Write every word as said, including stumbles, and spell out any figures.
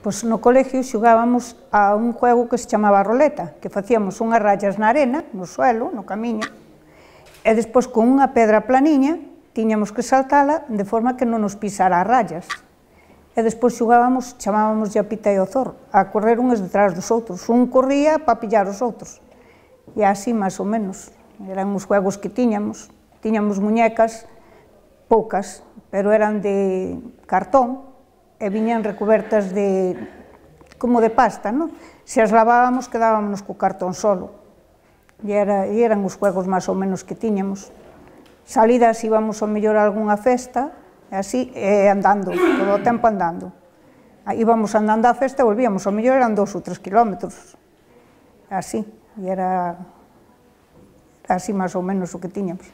Pois no colegio xogábamos a un juego que se chamaba roleta, que facíamos unhas rayas na arena, no suelo, no camiño, e despois con unha pedra planiña tiñamos que saltala de forma que non nos pisara as rayas. E despois xogábamos, chamábamos a pita e o zorro, a correr uns detrás dos outros. Un corría para pillar os outros. E así, máis ou menos, eran os juegos que tiñamos. Tiñamos muñecas, poucas, pero eran de cartón, e viñan recubertas de, como de pasta, non? Se as lavábamos, quedábamos co cartón solo. E, era, e eran os juegos máis ou menos que tiñamos. Salidas íbamos ao mellor a algunha festa, e así, e andando, todo o tempo andando. Íbamos andando á festa e volvíamos, ao mellor eran dous ou tres kilómetros. Así, e era así máis ou menos o que tiñamos.